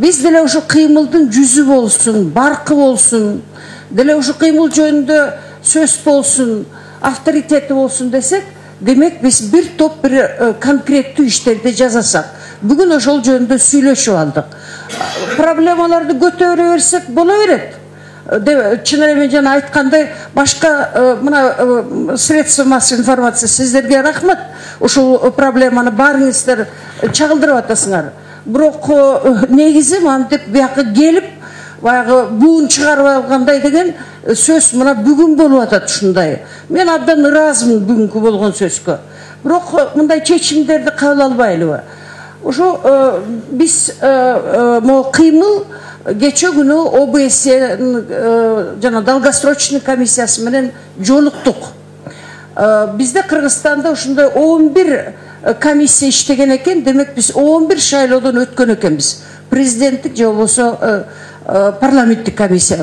Биз деле ошо кыймылдын жүзү болсун, баркы болсун, деле ошо кыймыл жөнүндө сөз болсун, авторитети болсун десек, демек биз бир топ бир конкреттүү иштерди жасасак. Бүгүн ошол жөнүндө сүйлөшүп алдык. Проблемаларды көтөрө берсек боло берет. Чын эле мен жана айткандай, башка мына средства массовой информация сиздерге рахмат. Ушул проблеманы баарыңыздар чагылдырып атасыңар. Бирок негизи мантип бияка келип, баягы буун чыгарып алгандай деген сөз мына бүгүн болуп атат ушундай. Мен абдан ыраазымын бүгүнкү болгон сөзгө. Бирок мындай чечимдерди кабыл албайлыбы? Ошо биз могу кыймыл кече күнү ОБС жана долгосрочный комиссиясы менен жолуктук. Бизде Кыргызстанда ушундай 11 комиссия иштеген экен, демек биз 11 шайлоодон өткөн экенбиз. Президенттик же болбосо парламенттик комиссия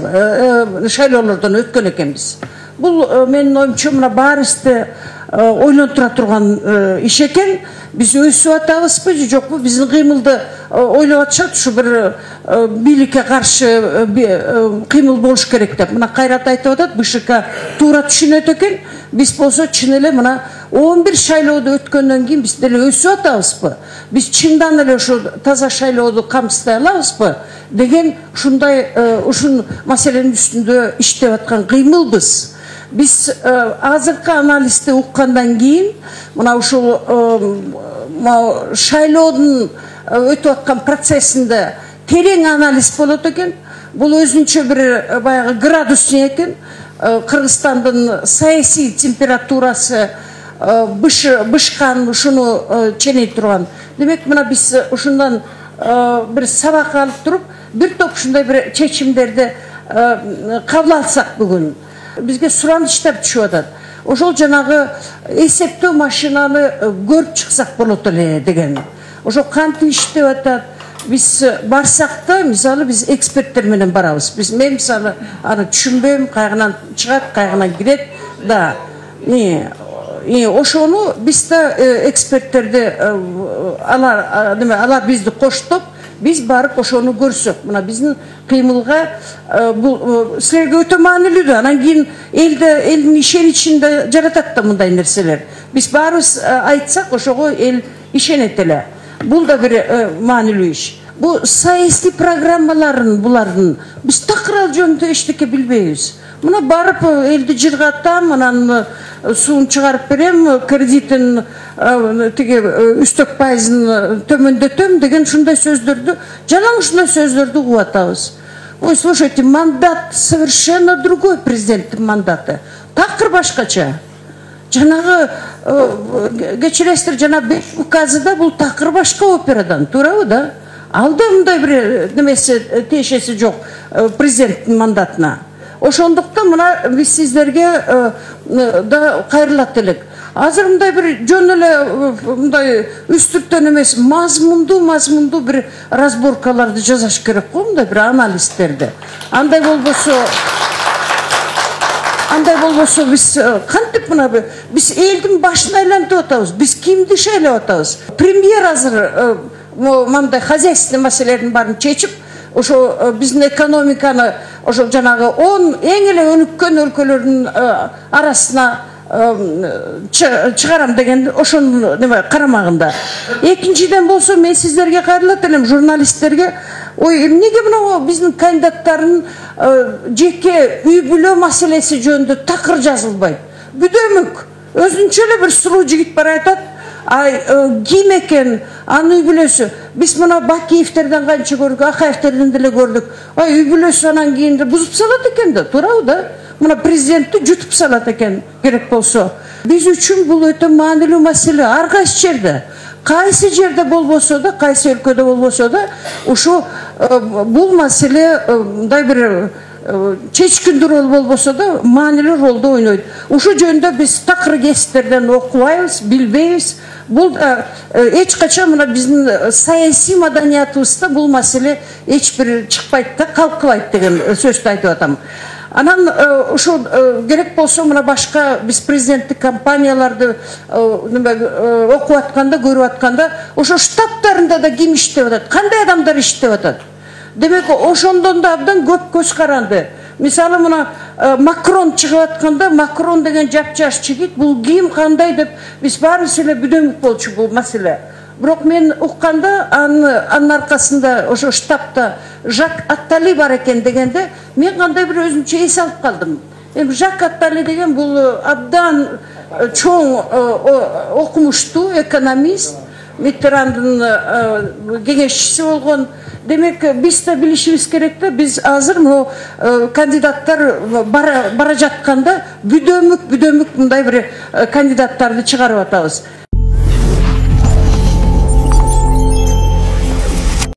шайлоолордон өткөн экенбиз. Бул менин оюмча мына баарыбызды ойлонтура турган иш экен. Биз өсүп атабызбы же жокпу? Биздин кыймылды ойлоп атышат, ушу бир бийликке каршы кыймыл болуш керек деп. Мына Кайрат айтып атат, БШК туура түшүнөт экен. Биз болсо чын эле мына 11 шайлоодо өткөндөн кийин биз деле өсүп атабызбы? Биз чындан эле ошо таза шайлоодо камсыздай алабызбы деген ушундай ушун маселенин үстүндө иштеп аткан кыймылбыз. Биз азыркы анализди уккандан кийин мына ушул шайлоодун өтүп аткан процессинде терең анализ болот экен. Бул өзүнчө бир баягы градус экен. Кыргызстандын саясий температурасы бышкан, ушуну ченей турган. Демек мына биз ушундан бир сабак алып туруп, бир топ ушундай бир чечимдерди кабыл алсак бүгүн. Бизге суранычтар түшүп атат. Ошол жанагы эсептөө машинаны көрүп чыксак болот эле деген. Ошо кантип иштеп атат? Биз барсак да, мисалы биз эксперттер менен барабыз. Мен мисалы аны түшүнбөйм, кайгынан чыгат, кайгынан кирет да. Ошону биз да эксперттерди алар бизди коштоп, биз барып ошону көрсөк, мына биздин кыймылга бул силерге өтө маанилүү да. Анан кийин элдин ишеничинде жаратат да мындай нерселер. Биз баарыбыз айтсак, ошого эл ишенет эле. Бул да бир маанилүү иш. Бу саясий программаларын булардын биз такыр ал жөнүндө эчтеке билбейбиз. Мына барып элди жыргатам, анан суун чыгарып берем, кредитин тиги үстөк пайызын төмөндөтөм деген ушундай сөздөрдү, жалаң ушундай сөздөрдү угуп атабыз. Ой, слушайте, мандат совершенно другой, президенттин мандаты. Такыр башкача. Жанагы кечиресиздер, жана 5 указыда бул такыр башка операдан, туурабы да? Алда мындай бир немеси тиешеси жок президенттин мандатына. Ошондуктан мына биз сиздерге да кайрылат элек. Азыр мындай бир жөн эле мындай үстүртөн эмес, мазмундуу бир разборкаларды жасаш керек го, мындай бир анализдерди. Андай болбосо биз кантип мына биз элдин башын айлантып атабыз. Биз кимди шайлап атабыз? Премьер азыр мындай хозяйственный маселелердин баарын чечип, ошо биздин экономиканы ошо жанагы 10 эң эле өнүккөн өлкөлөрдүн арасына чыгарам деген ошонун карамагында. Экинчиден болсо мен сиздерге кайрылат элем, журналисттерге. Ой, эмнеге мына биздин кандидаттардын жеке үй бүлө маселеси жөнүндө такыр жазылбайт? Бүдөмүк өзүнчө эле бир сулуу жигит бар айтат. Ким экен, анын үй бүлөсү. Биз мына Бакиевтерден канча көрдүк, Акаевтерден деле көрдүк. Үй бүлөсү анан кийин бузуп салат экен да, туурабы да? Мына президентти жутуп салат экен керек болсо. Биз үчүн бул өтө маанилүү маселе. Ар кайсы жерде, кайсы жерде болбосо да, кайсы өлкөдө болбосо да, ушу бул маселе мындай бир чечкиндүү рол болбосо да маанилүү ролду ойнойт. Ушул жөнүндө биз такыр кесиптерден окубайбыз, билбейбиз. Бул эч качан мына биздин саясий маданиятыбызда бул маселе эч бир чыкпайт да, калкыбайт деген сөздү айтып атам. Анан ушул керек болсо мына башка биз президенттик компанияларды окуп атканда, көрүп атканда, ошо штабтарында да ким иштеп атат, кандай адамдар иштеп атат? Демек ошондон да абдан көп көз каранды. Мисалы мына Макрон чыгып атканда, Макрон деген жапжаш жигит, бул ким, кандай деп биз баарыбыз эле бүдөмүк болчу бул маселе. Бирок мен укканда анын аркасында ошо штабта Жак Аттали бар экен дегенде, мен кандай бир өзүмчө эс алып калдым. Эми Жак Аттали деген бул абдан чоң окумуштуу экономист, Миттерандын кеңешчиси болгон. Демек биз да билишибиз керек да, биз азыр могу кандидаттар бара жатканда бүдөмүк мындай бир кандидаттарды чыгарып атабыз.